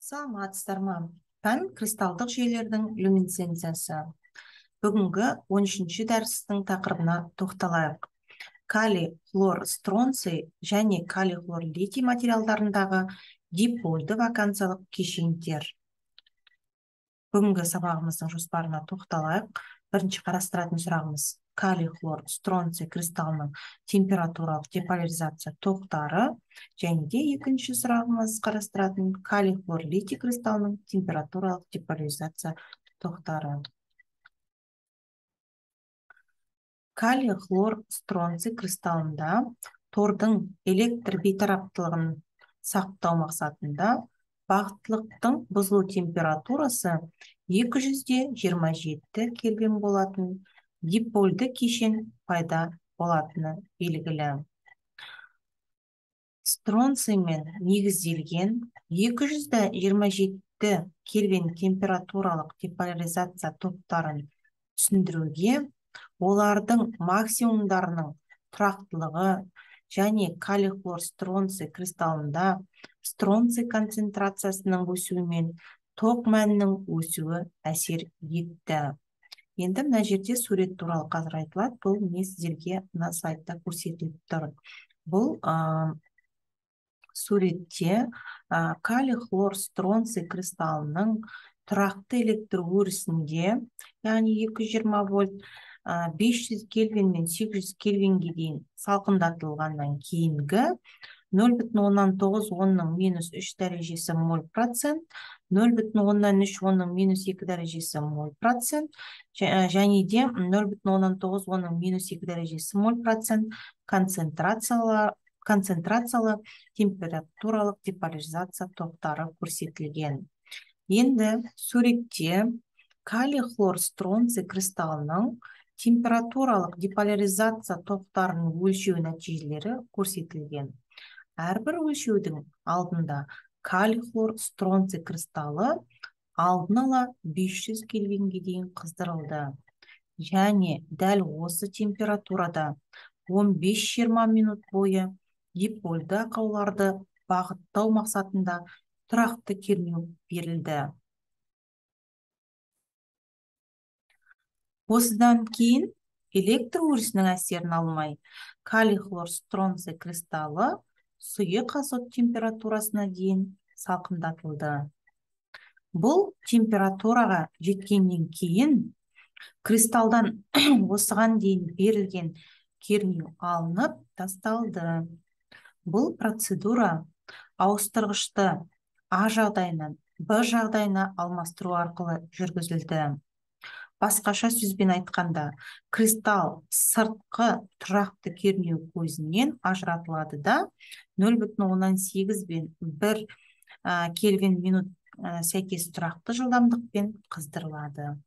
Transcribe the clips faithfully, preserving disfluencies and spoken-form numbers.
Саламатсыздар ма? Пән кристалдық жүйелердің люминесценциясы. Бүгінгі он үшінші дәрістің тақырыбына тоқталайық. Калий, хлор, стронций және калий, хлор, литий материалдарындағы дипольды вакансиялық кешендер. Бүгінгі сабағымыздың жоспарына тоқталайық. Бірінші қарастыратын сұрағымыз: калий, хлор, стронций кристалының температуралық деполяризация тоқтары. Және де екінші сұрағымыз қарастыратын калий, хлор, литий кристалының температуралық деполяризация тоқтары. Калий, хлор, стронций кристалында тордың электр бейтараптылығын сақтау мақсатында бағыттылықтың бұзылу температурасы екі жүз жиырма жеті кельвин болатын дипольды кешен пайда болатыны белгілі. Стронциймен негізделген екі жүз жиырма жеті кельвин температуралық деполяризация топтарын түсіндіруге олардың максимумдарының тұрақтылығы және калий, хлор, стронций кристалында стронций концентрациясының өсуімен тоқ мәнінің өсуі әсер етті. Енді мына жерде сурет туралы қазір айтылады. Бұл не сіздерге мына сайтта көрсетіліп тұр. Бұл ә, суретте ә, калий, хлор, стронций кристалының тұрақты электр өрісінде, яғни екі жүз жиырма вольт, бес жүз кельвин мен сегіз жүз кельвинге дейін салқындатылғаннан кейінгі нөл бүтін оннан тоғыз онның минус үш дәрежесі моль процент, нөл бүтін оннан үш онның минус екі дәрежесі моль процент, және де нөл бүтін оннан тоғыз онның минус екі дәрежесі моль процент концентрациялы, концентрациялы температуралық деполяризация топтары көрсетілген. Енді суретте калий, хлор, стронций кристалының температуралық деполяризация топтарының өлшеу нәтижелері көрсетілген. Әрбір өлшеудің алдында калий, хлор, стронций кристалы алдын ала бес жүз кельвинге дейін қыздырылды. Және дәл осы температурада он бес жиырма минут бойы дипольды ақауларды бағыттау мақсатында тұрақты кернеу берілді. Осыдан кейін электр өрісінің әсерін алмай, калий, хлор, стронций кристалы сұйық азот температурасына дейін салқындатылды. Бұл температураға жеткеннен кейін кристалдан осыған дейін берілген кернеу алынып тасталды. Бұл процедура ауыстырғышты А жағдайынан Б жағдайына алмастыру арқылы жүргізілді. Басқаша сөзбен айтқанда, кристалл сыртқы тұрақты кернеу көзінен ажыратылады да нөл бүтін оннан сегіз бен бір кельвин минут сәйкес тұрақты жылдамдықпен қыздырылады.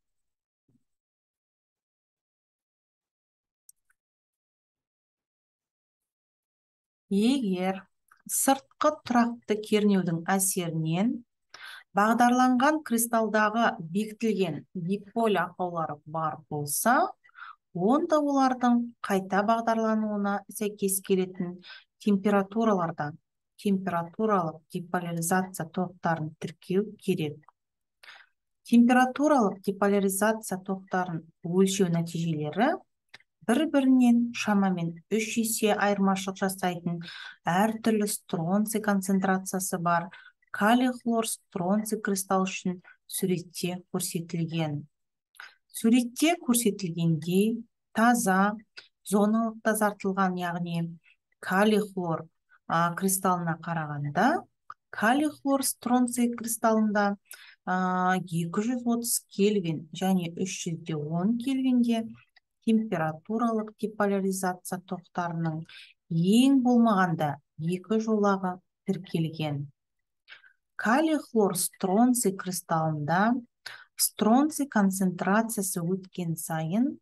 Егер сыртқы тұрақты кернеудің әсерінен бағдарланған кристалдағы бекітілген диполь ақаулары бар болса, онда олардың қайта бағдарлануына сәйкес келетін температуралардан температуралық деполяризация тоқтарын тіркеу керек. Температуралық деполяризация тоқтарын өлшеу нәтижелері бір-бірінен шамамен үш есе айырмашылық жасайтын әртүрлі стронций концентрациясы бар калий, хлор, стронций кристалл үшін суретте көрсетілген. Суретте көрсетілгендей таза, зоналық тазартылған, яғни калий, хлор кристаллына қарағанда, калий, хлор, стронций кристаллында екі жүз отыз кельвин және үш жүз он кельвинде температуралық деполяризация тоқтарының ең болмағанда екі жолағы тіркелген. Калий, хлор, стронций кристаллында стронций концентрациясы өткен сайын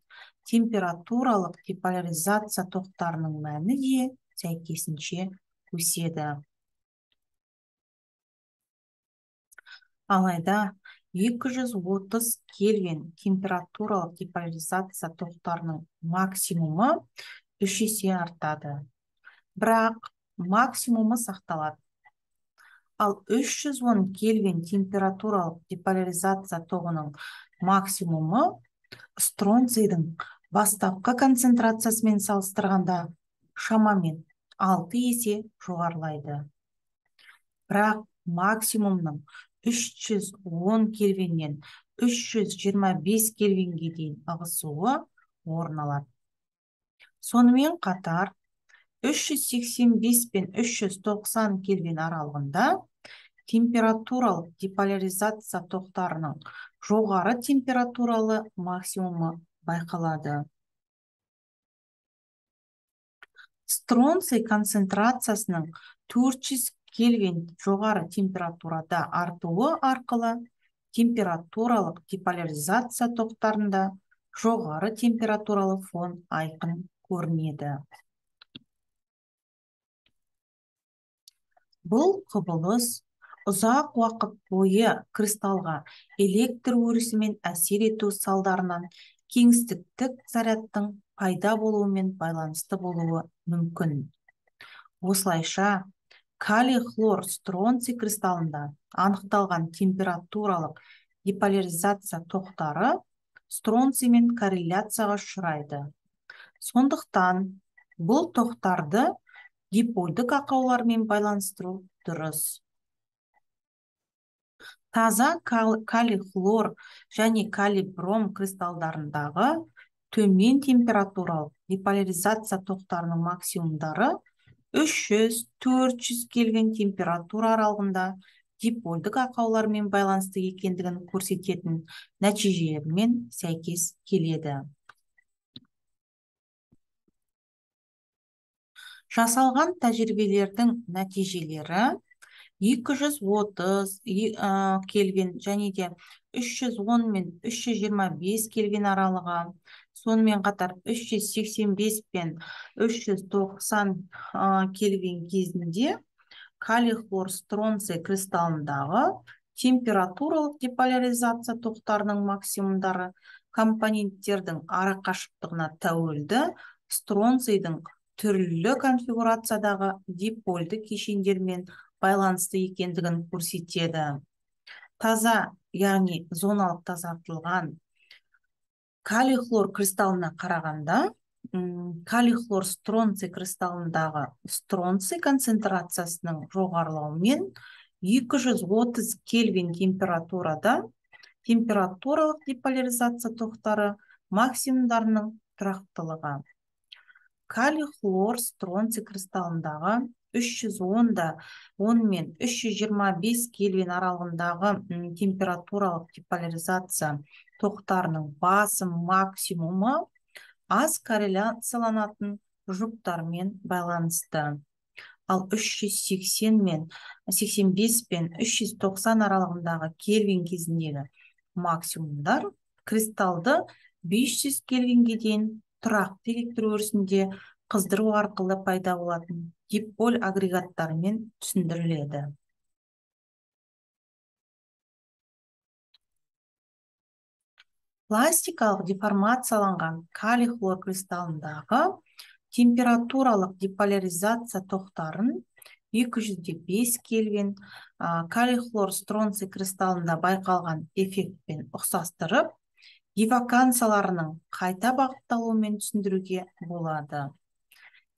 температуралық деполяризация тоқтарының мәні де сәйкесінше өседі. Алайда екі жүз отыз кельвин температуралық деполяризация тоқтарының максимумы үш есе артады. Бірақ максимумы сақталады. Ал үш жүз он кельвин температуралық деполяризация тоғының максимумы стронцийдің бастапқы концентрациясымен салыстырғанда шамамен алты есе жоғарылайды. Бірақ максимумның үш жүз он кельвиннен үш жүз жиырма бес кельвинге дейін ығысуы орын алады. Сонымен қатар үш жүз сексен бес пен үш жүз тоқсан кельвин аралығында температуралық деполяризация тоқтарының жоғары температуралы максимумы байқалады. Стронций концентрациясының төрт жүз кельвин жоғары температурада артуы арқылы температуралық деполяризация тоқтарында жоғары температуралы фон айқын көрінеді. Бұл құбылыс ұзақ уақыт бойы кристалға электр өрісімен әсер ету салдарынан кеңістіктік зарядтың пайда болуымен байланысты болуы мүмкін. Осылайша, калий хлор стронций кристаллында анықталған температуралық деполяризация тоқтары стронциймен корреляцияға ұшырайды. Сондықтан бұл тоқтарды дипольдік ақаулармен байланыстыру дұрыс. Таза калий хлор және калий бром кристалдарындағы төмен температуралық деполяризация тоқтарының максимумдары үш жүз - төрт жүз кельвин температура аралығында дипольдік ақаулармен байланысты екендігін көрсететін нәтижелермен сәйкес келеді. Жасалған тәжірибелердің нәтижелері екі жүз отыз кельвин және де үш жүз он мен үш жүз жиырма бес кельвин аралығы, сонымен қатар үш жүз сексен бес пен үш жүз тоқсан кельвин кезінде калий хлор стронций кристаллындағы температуралық деполяризация тоқтарының максимумдары компоненттердің арақашықтығына тәуелді стронцийдің түрлі конфигурациядағы дипольді кешендермен байланысты екендігін көрсетеді. Таза, яғни зоналық тазартылған калий хлор кристаллына қарағанда, калий хлор стронций кристаллындағы стронций концентрациясының жоғарылауымен екі жүз отыз кельвин температурада температуралық деполяризация тоқтары максимумдарының тұрақтылығы. Калий хлор стронций кристаллындағы үш жүз он мен үш жүз жиырма бес кельвин аралығындағы температуралық деполяризация тоқтарының басым максимумы аз корреляцияланатын жұптармен байланысты. Ал үш жүз сексен мен сексен бес пен үш жүз тоқсан аралығындағы кельвин кезіндегі максимумдар кристалды бес жүз кельвинге дейін тұрақты электр өрісінде қыздыру арқылы пайда болатын диполь агрегаттарымен түсіндіріледі. Пластикалық деформацияланған калий хлор кристаллындағы температуралық деполяризация тоқтарын екі жүз бес кельвин калий хлор стронций кристаллында байқалған эффектпен ұқсастырып, дивакансияларының қайта бағытталуымен түсіндіруге болады.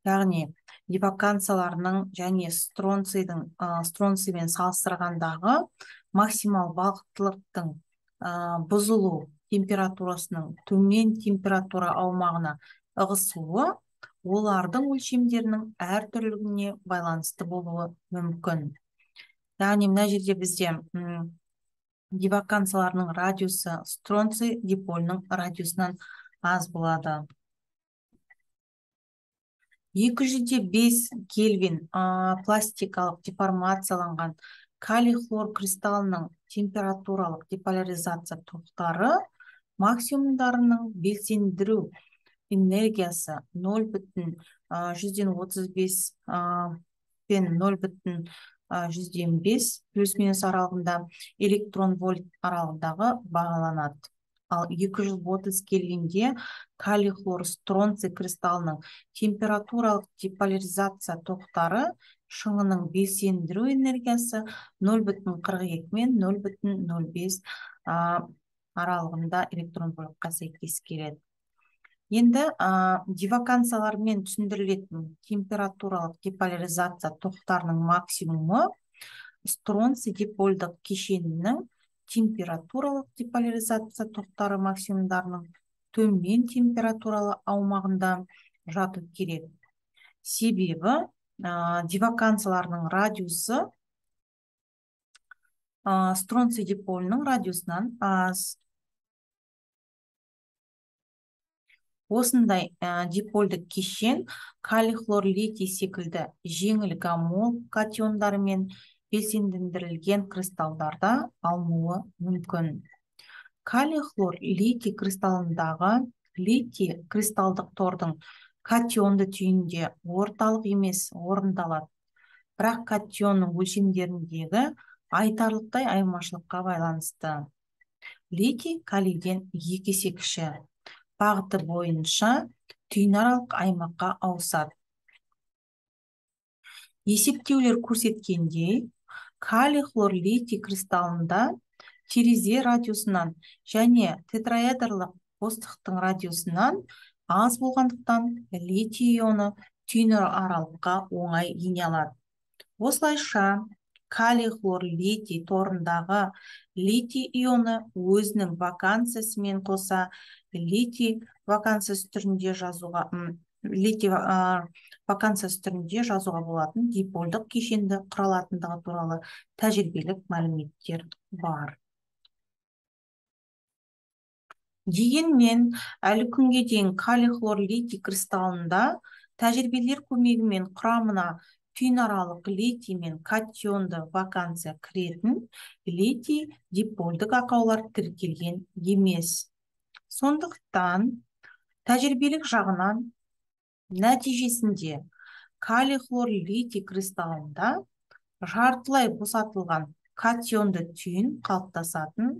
Яғни, дивакансияларының және стронцийдің стронциймен салыстырғандағы максимал бағыттылықтың бұзылу температурасының төмен температура аумағына ығысуы олардың өлшемдерінің әртүрлілігіне байланысты болуы мүмкін. Яғни, мына жерде бізде дивакансияларының радиусы стронций дипольның радиусынан аз болады. екі жүз бес кельвин пластикалық деформацияланған калий хлор кристаллының температуралық деполяризация тоқтары максимумдарының белсендіру энергиясы нөл бүтін жүзден отыз бес пен нөл бүтін жүзден бес плюс-минус аралығында электрон вольт аралығындағы бағаланады. Ал екі жүз отыз кельвинде калий хлор стронций кристаллының температуралық деполяризация тоқтары шыңының белсендіру энергиясы нөл бүтін қырық екі мен нөл бүтін нөл бес аралығында электрон полюпқа сәйкес келеді. Енді дивакансиялармен түсіндірілетін температуралық деполяризация тоқтарының максимумы стронций дипольдық кешенінің температуралық деполяризация тоқтары максимумдарының төмен температуралы аумағында жату керек. Себебі дивакансияларының радиусы стронций диполінің радиусынан аз. Осындай дипольдік кешен калий хлор литий секілді жеңіл гамол катиондарымен белсендендірілген кристалдарда алынуы мүмкін. Калий хлор литий кристаллындағы литий кристалдық тордың катионды түйінде орталық емес орындалады. Бірақ катионның өлшемдеріндегі айтарлықтай айырмашылыққа байланысты. Литий калийден екі есе кіші. Бағыты бойынша түйінаралық аймаққа ауысады. Есептеулер көрсеткендей, калий хлор литий кристаллында терезе радиусынан және тетраэдрлық қостықтың радиусынан аз болғандықтан литий ионы түйінаралыққа оңай ене алады. Осылайша калий хлор литий торындағы литий ионы өзінің вакансиясымен қоса литий вакансиясы түрінде жазуға литий вакансиясы түрінде жазуға болатын дипольдық кешенді құралатындығы туралы тәжірибелік мәліметтер бар. Дегенмен, әлі күнге дейін калий хлор литий кристаллында тәжірибелер көмегімен құрамына түйінаралық литий мен катионды вакансия кіретін литий дипольдік ақаулар тіркелген емес. Сондықтан, тәжірибелік жағынан нәтижесінде калий хлор литий кристаллында жартылай босатылған катионды түйін қалыптасатын,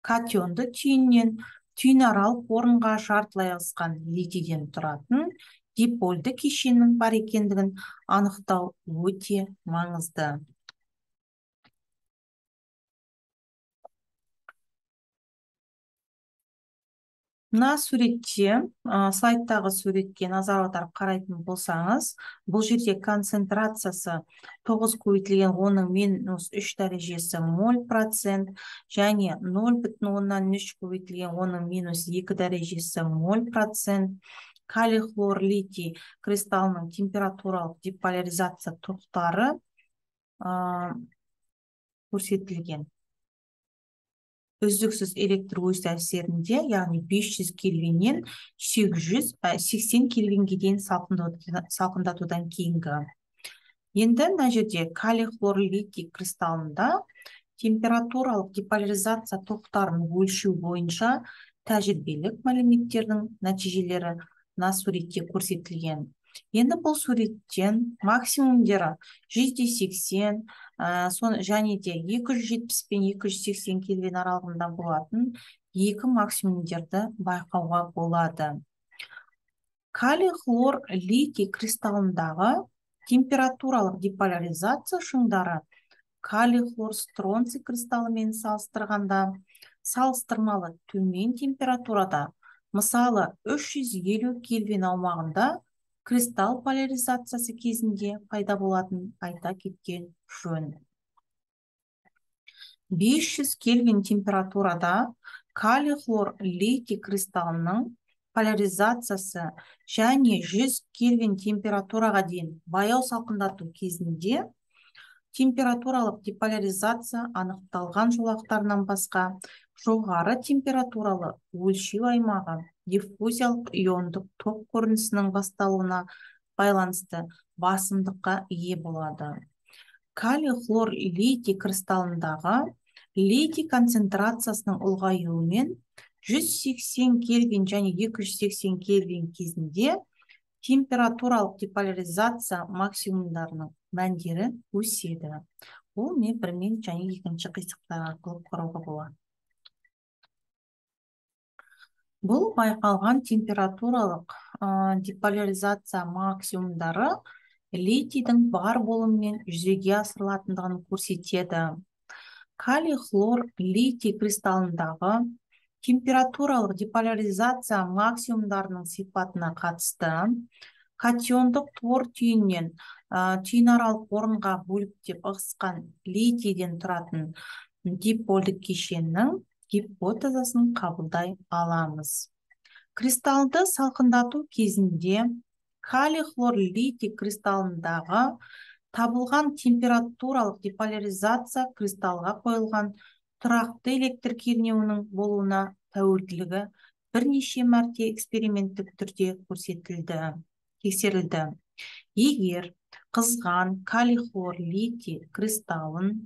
катионды түйіннен түйінаралық орынға жартылай ығысқан литийден тұратын дипольді кешеннің бар екендігін анықтау өте маңызды. Мына суретте, слайдтағы суретке назар аударып қарайтын болсаңыз, бұл жерде концентрациясы тоғыз көбейтілген онның минус үш дәрежесі моль процент және нөл бүтін оннан үш көбейтілген онның минус екі дәрежесі моль процент. Калий хлор литий кристаллының температуралық деполяризация тоқтары көрсетілген. Үздіксіз электр өз әсерінде, яғни бес жүз кельвиннен сегіз жүз сексен кельвинге дейін салқындатудан кейінгі. Енді мына жерде калий хлор литий кристаллында температуралық деполяризация тоқтарын өлшеу бойынша тәжірибелік мәліметтердің нәтижелері мына суретте көрсетілген. Енді бұл суреттен максимумдері жүз сексен және де екі жүз жетпіс пен екі жүз сексен кельвин аралығында болатын екі максимумдерді байқауға болады. Калий хлор литий кристаллындағы температуралық деполяризация шыңдары калий хлор стронций кристаллымен салыстырғанда салыстырмалы төмен температурада, мысалы үш жүз елу кельвин аумағында кристалл поляризациясы кезінде пайда болатын айта кеткен жөн. бес жүз кельвин температурада калий хлор литий кристаллының поляризациясы және жүз кельвин температураға дейін баяу салқындату кезінде температуралық деполяризация анықталған жолақтарынан басқа жоғары температуралы өлшеу аймағы диффузиялық иондық ток көрінісінің басталуына байланысты басымдыққа ие болады. Калий хлор литий кристаллындағы литий концентрациясының ұлғаюымен жүз сексен кельвин және екі жүз сексен кельвин кезінде температуралық деполяризация максимумдарының мәндері өседі. Ол не бірмен және екінші қисықтар арқылы қарауға болады. Бұл байқалған температуралық деполяризация максимумдары литийдің бар болуымен жүзеге асырылатындығын көрсетеді. Калий хлор литий кристаллындағы температуралық деполяризация максимумдарының сипатына қатысты катиондық тор түйіннен түйінаралық орынға бөліп деп ығысқан литийден тұратын диполдік кешеннің гипотезасын қабылдай аламыз. Кристаллды салқындату кезінде калий хлор литий кристаллындағы табылған температуралық деполяризация кристаллға қойылған тұрақты электр кернеуінің болуына тәуелділігі бірнеше мәрте эксперименттік түрде көрсетілді, тексерілді. Егер қызған калий хлор литий кристаллын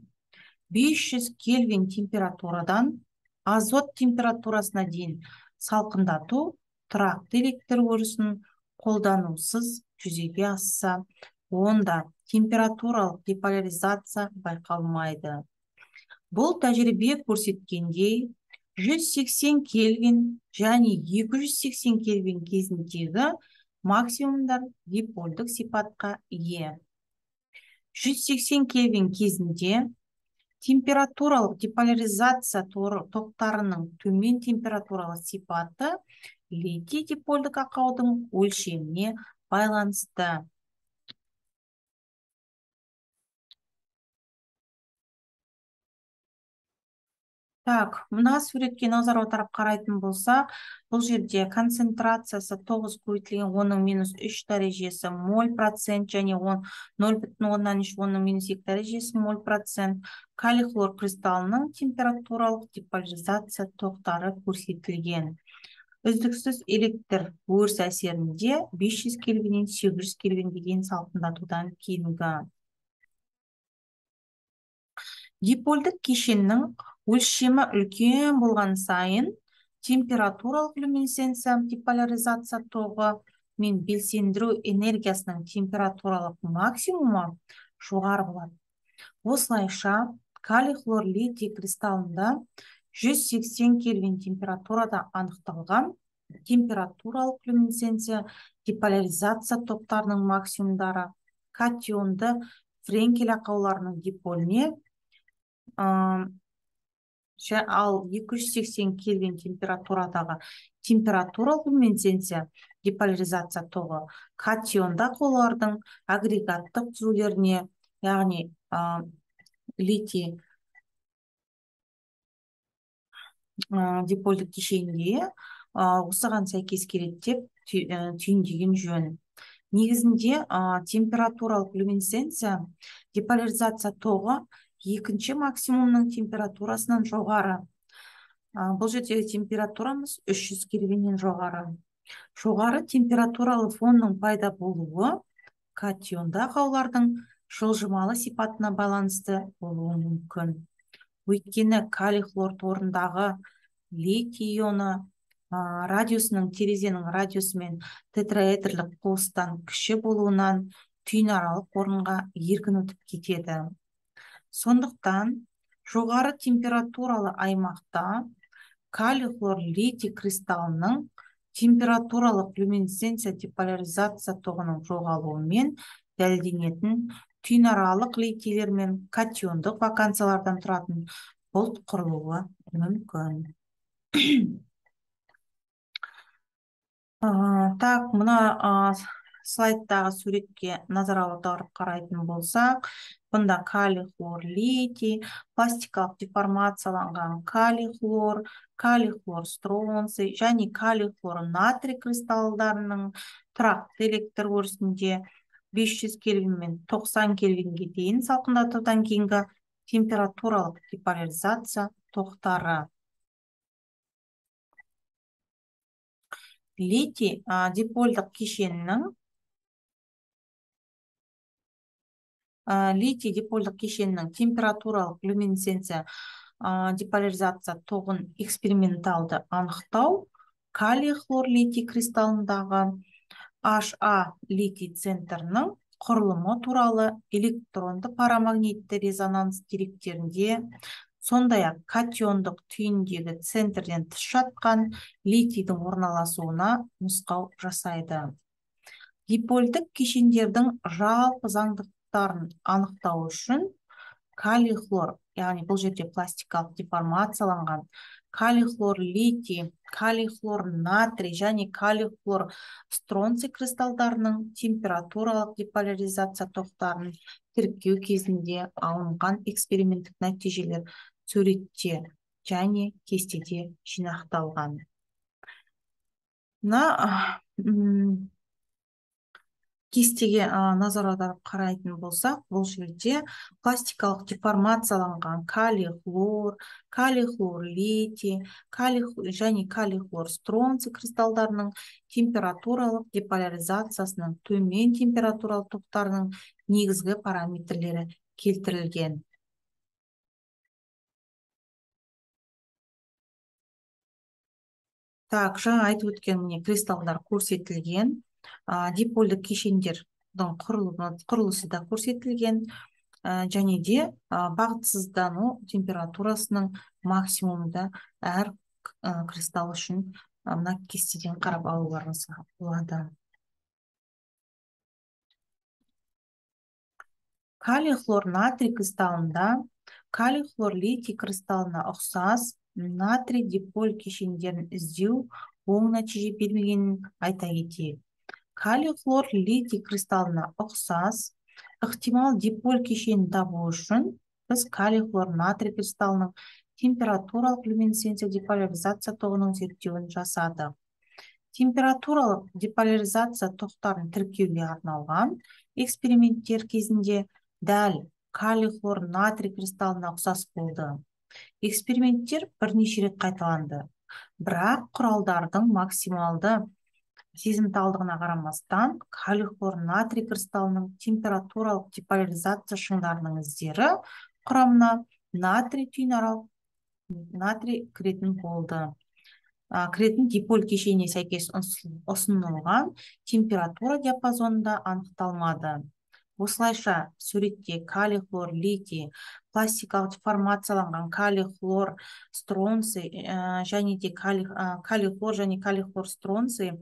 бес жүз кельвин температурадан азот температурасына дейін салқындату тұрақты электр өрісін қолданусыз жүзеге асса, онда температуралық деполяризация байқалмайды. Бұл тәжірибе көрсеткендей, жүз сексен кельвин және екі жүз сексен кельвин кезіндегі максимумдар диполдік сипатқа ие. жүз сексен кельвин кезінде температуралық деполяризация тоқтарының төмен температуралық сипаты литий диполдік ақаудың өлшеміне байланысты. Так, мына суретке назар аударып қарайтын болсақ, бұл жерде концентрациясы тоғыз көбейтілген онның минус үш дәрежесі моль процент және нөл бүтін оннан үш онның минус екі дәрежесі моль процент калий хлор кристаллының температуралық деполяризация тоқтары көрсетілген. Үздіксіз электр өріс әсерінде бес жүз кельвиннен сегіз жүз кельвинге дейін салқындатудан кейінгі. Диполдік кешеннің өлшемі үлкен болған сайын температуралық люминесценция деполяризация тоғы мен белсендіру энергиясының температуралық максимумы жоғары болады. Осылайша калий хлор литий кристаллында жүз сексен кельвин температурада анықталған температуралық люминесценция деполяризация тоқтарының максимумдары катионды френкель ақауларының диполіне, ал екі жүз сексен кельвин температурадағы температуралық люминесценция деполяризация тоғы катионды ақаулардың агрегаттық түзулеріне, яғни литий диполдік кешенге осыған сәйкес келеді деп түйіндеген жөн. Негізінде температуралық люминесценция деполяризация тоғы екінші максимумның температурасынан жоғары. Бұл жердегі температурамыз үш жүз кельвиннен жоғары. Жоғары температуралы фонның пайда болуы катионды ақаулардың жылжымалы сипатына байланысты болуы мүмкін. Өйткені калий хлор торындағы литий ионы радиусының терезенің радиусымен тетраэдрлік қуыстан кіші болуынан түйінаралық орынға еркін өтіп кетеді. Сондықтан жоғары температуралы аймақта калий хлор литий кристаллының температуралық люминесценция деполяризация тоғының жоғалуымен дәлелденетін түйінаралық литийлер мен катиондық вакансиялардан тұратын бұлт құрылуы мүмкін. Так, мына слайдтағы суретке назар аударып қарайтын болсақ, бұнда калий хлор литий, пластикалық деформацияланған калий хлор, калий хлор стронций және калий хлор натрий кристаллдарының тұрақты электр өрісінде бес жүз кельвин мен тоқсан кельвинге дейін салқындатудан кейінгі температуралық деполяризация тоқтары. Литий диполдық кешенінің литий диполдық кешенінің температуралық люминесценция деполяризация тоғын эксперименталды анықтау калий хлор литий кристаллындағы H A литий центрінің құрылымы туралы электронды парамагнитті резонанс деректерінде, сондай-ақ катиондық түйіндегі центрден тыс жатқан литийдің орналасуына нұсқау жасайды. Дипольдік кешендердің жалпы заңдылықтарын анықтау үшін калий хлор, яғни бұл жерде пластикалық деформацияланған калий хлор литий, калий хлор натрий және калий хлор стронций кристалдарының температуралық деполяризация тоқтарын тіркеу кезінде алынған эксперименттік нәтижелер суретте және кестеде жинақталған. Мына кестеге назар аударып қарайтын болсақ, бұл жерде пластикалық деформацияланған калий хлор, калий хлор литий, калий және калий хлор стронций кристалдарының температуралық деполяризациясының төмен температуралық топтарының негізгі параметрлері келтірілген. Так, жаңа айтып өткен міне кристалдар көрсетілген. Дипольдік кешендердің құрылысы да көрсетілген, және де бағытсыздану температурасының максимумда әр кристалл үшін мына кестеден қарап алуларыңызға болады. Калий хлор натрий кристаллында калий хлор литий кристаллына ұқсас натрий диполь кешендерін іздеу оң нәтиже бермегенін айта кетейік. Калий хлор литий кристаллына ұқсас ықтимал диполь кешенін табу үшін біз калий хлор натрий кристаллының температуралық люминесценция деполяризация тоғының зерттеуін жасадық. Температуралық деполяризация тоқтарын тіркеуге арналған эксперименттер кезінде дәл калий хлор натрий кристаллына ұқсас болды. Эксперименттер бірнеше рет қайталанды, бірақ құралдардың максималды сезімталдығына қарамастан калий хлор натрий кристаллының температуралық деполяризация шыңдарының іздері құрамына натрий түйінарал натрий кіретін болды. Кіретін диполь кешеніне сәйкес ұсынылған температура диапазонында анықталмады. Осылайша суретте калий хлор литий, пластикалық деформацияланған калий хлор стронций және де калий хлор және калий хлор стронций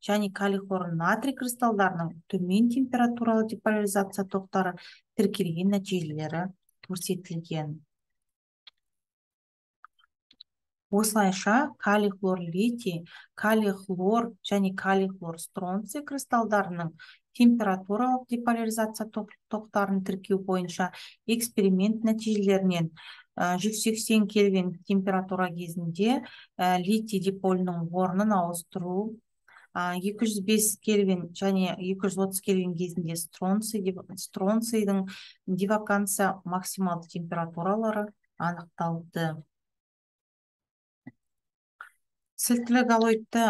және калий хлор натрий кристалдарының төмен температуралы деполяризация тоқтары тіркелген нәтижелері көрсетілген. Осылайша калий хлор литий, калий хлор және калий хлор стронций кристалдарының температуралық деполяризация тоқтарын тіркеу бойынша эксперимент нәтижелерінен жүз сексен кельвин температура кезінде литий диполінің орнын ауыстыру, екі жүз бес кельвин және екі жүз отыз кельвин кезінде стронцийдің деваканция максималды температуралары анықталды. Сілтілі галоидты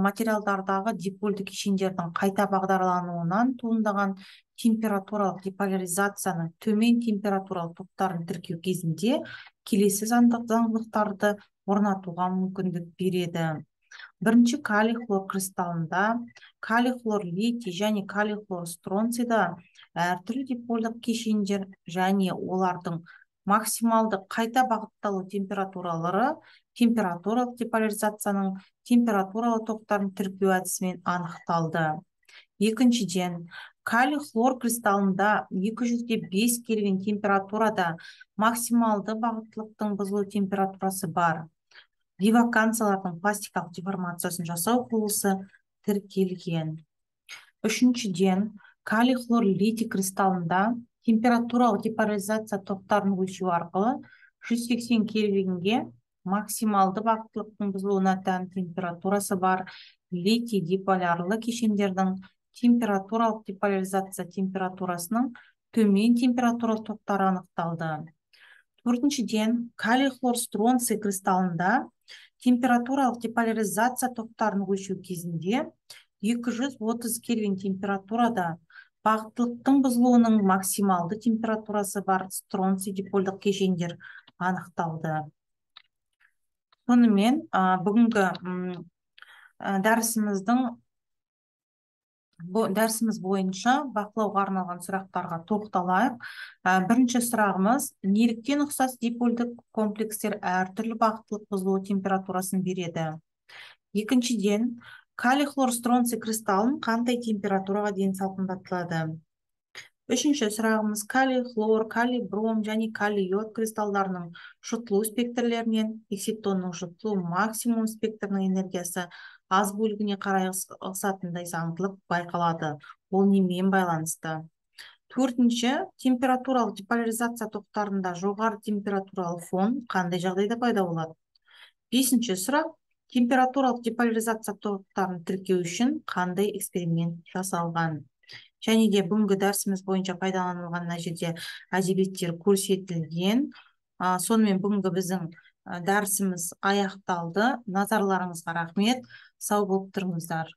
материалдардағы дипольді кешендердің қайта бағдарлануынан туындаған температуралық деполяризацияның төмен температуралық топтарын тіркеу кезінде келесі заңдылықтарды орнатуға мүмкіндік береді. Бірінші калий хлор кристаллында калий хлор литий және калий хлор стронцийда әртүрлі дипольдік кешендер және олардың максималды қайта бағытталу температуралары температуралық деполяризацияның температуралы топтарын тіркеу әдісімен анықталды. Екіншіден, калий хлор кристаллында екі жүз бес кельвин температурада максималды бағыттылықтың бұзылу температурасы бар. Деваканциялардың пластикалық деформациясын жасау құрылысы тіркелген. Үшіншіден, калий хлор литий кристаллында температуралық деполяризация топтарын өлшеу арқылы жүз сексен кельвинге максималды бағыттылықтың бұзылуына тән температурасы бар литий диполярлы кешендердің температуралық деполяризация температурасының төмен температуралық топтары анықталды. Төртіншіден, калий хлор стронций кристаллында температуралық деполяризация топтарын өлшеу кезінде екі жүз отыз кельвин температурада бағыттылықтың бұзылуының максималды температурасы бар стронций дипольдық кешендер анықталды. Сонымен, бүгінгі дәрісіміздің дәрісіміз бойынша бақылауға арналған сұрақтарға тоқталайық. Бірінші сұрағымыз, неліктен ұқсас дипольдік комплекстер әртүрлі бағыттылық бұзылу температурасын береді? Екіншіден, Калий, хлор, стронций кристаллын қандай температураға дейін салқындатылады? Үшінші сұрағымыз: калий, хлор, калий, бром және калий йод кристалдарының жұтылу спектрлерінен экситонның жұтылу максимум спектрінің энергиясы аз бөлігіне қарай ығысатындай заңдылық байқалады. Ол немен байланысты? Төртінші, температуралық деполяризация тоқтарында жоғары температуралы фон қандай жағдайда пайда болады? Бесінші сұрақ: температуралық деполяризация топтарын тіркеу үшін қандай эксперимент жасалған? Және де бүгінгі дәрісіміз бойынша пайдаланылған мына жерде әдебиеттер көрсетілген. А, сонымен бүгінгі біздің дәрісіміз аяқталды. Назарларыңызға рахмет. Сау болып тұрыңыздар.